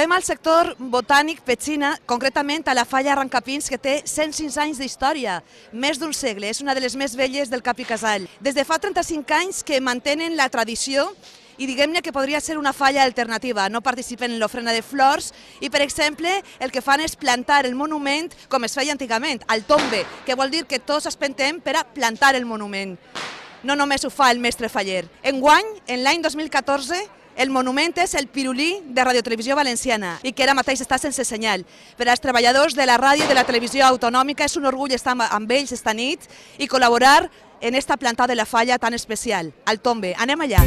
trobem al sector botànic Petxina, concretament a la falla Arrancapins, que té 105 anys d'història, més d'un segle, és una de les més velles del Cap i Casal. Des de fa 35 anys que mantenen la tradició i diguem-ne que podria ser una falla alternativa, no participen en l'ofrena de flors i, per exemple, el que fan és plantar el monument com es feia antigament, al tombe, que vol dir que tots espentem per a plantar el monument. No només ho fa el mestre faller. Enguany, en l'any 2014, el monument és el pirulí de Radiotelevisió Valenciana i que ara mateix està sense senyal. Per als treballadors de la ràdio i de la televisió autonòmica és un orgull estar amb ells esta nit i col·laborar en esta plantada de la falla tan especial, al tombe. Anem allà.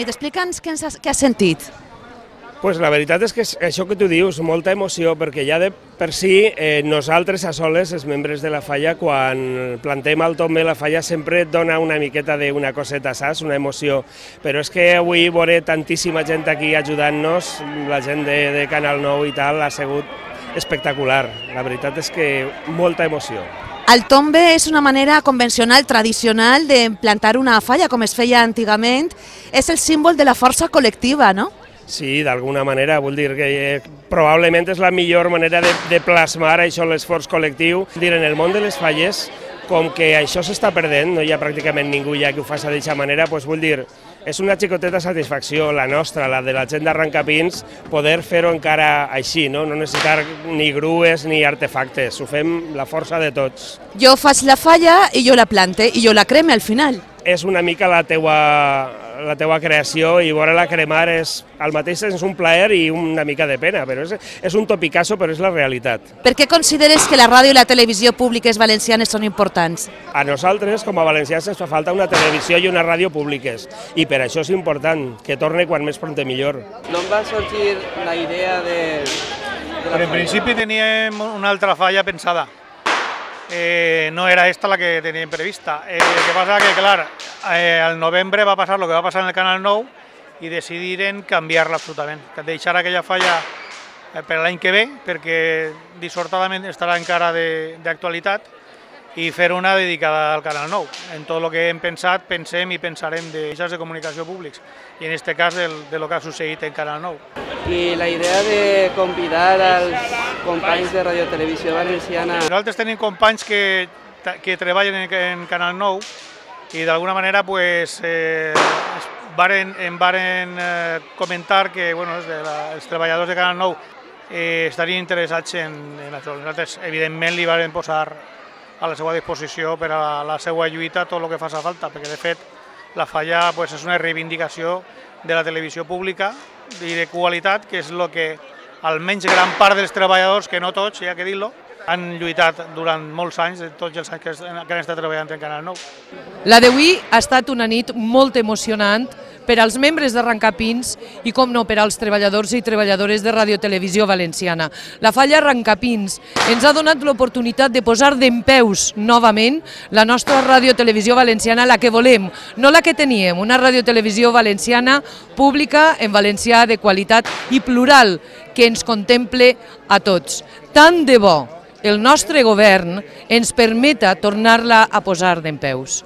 Explica'ns què has sentit. Pues la veritat és que això que tu dius, molta emoció, perquè ja de per si nosaltres a soles, els membres de la falla, quan plantem al tombe la falla sempre et dona una miqueta d'una coseta, saps? Una emoció. Però és que avui veuré tantíssima gent aquí ajudant-nos, la gent de Canal 9 i tal, ha sigut espectacular. La veritat és que molta emoció. El tombe és una manera convencional, tradicional, de plantar una falla, com es feia antigament. És el símbol de la força col·lectiva, no? Sí, d'alguna manera. Vull dir que probablement és la millor manera de plasmar això, l'esforç col·lectiu. En el món de les falles, com que això s'està perdent, no hi ha pràcticament ningú ja que ho faci d'aquesta manera, doncs vull dir, és una xicoteta satisfacció, la nostra, la de la gent d'Arrancapins, poder fer-ho encara així, no necessitar ni grues ni artefactes, ho fem la força de tots. Jo faig la falla i jo la plante i jo la creme al final. És una mica la teua creació i veure-la cremar és al mateix temps un plaer i una mica de pena, però és un topicasso, però és la realitat. Per què consideres que la ràdio i la televisió públiques valencianes són importants? A nosaltres, com a valencians, ens fa falta una televisió i una ràdio públiques i per això és important que torni quan més pront millor. D'on va sorgir la idea de la falla? En principi teníem una altra falla pensada. No era esta la que teníem prevista. El que passa que, clar, al novembre va passar el que va passar en el Canal 9 i decidiren canviar-la absolutament, deixar aquella falla per l'any que ve, perquè dissortadament estarà encara d'actualitat, i fer una dedicada al Canal 9. En tot el que hem pensat, pensem i pensarem de mitjans de comunicació públics, i en aquest cas de lo que ha succeït en Canal 9. I la idea de convidar als companys de Radiotelevisió Valenciana... Nosaltres tenim companys que treballen en Canal 9 i d'alguna manera em varen comentar que els treballadors de Canal 9 estarien interessats en això. Nosaltres, evidentment, li varen posar a la seva disposició per a la seva lluita tot el que faci falta, perquè de fet la falla és una reivindicació de la televisió pública i de qualitat, que és el que almenys gran part dels treballadors, que no tots, hi ha que dir-lo, han lluitat durant molts anys, tots els anys que han estat treballant en Canal 9. La d'avui ha estat una nit molt emocionant per als membres d'Arrancapins i, com no, per als treballadors i treballadores de Radiotelevisió Valenciana. La falla Arrancapins ens ha donat l'oportunitat de posar dempeus novament la nostra Radiotelevisió Valenciana, la que volem, no la que teníem, una Radiotelevisió Valenciana pública, en valencià, de qualitat i plural, que ens contemple a tots. Tant de bo el nostre govern ens permeta tornar-la a posar dempeus.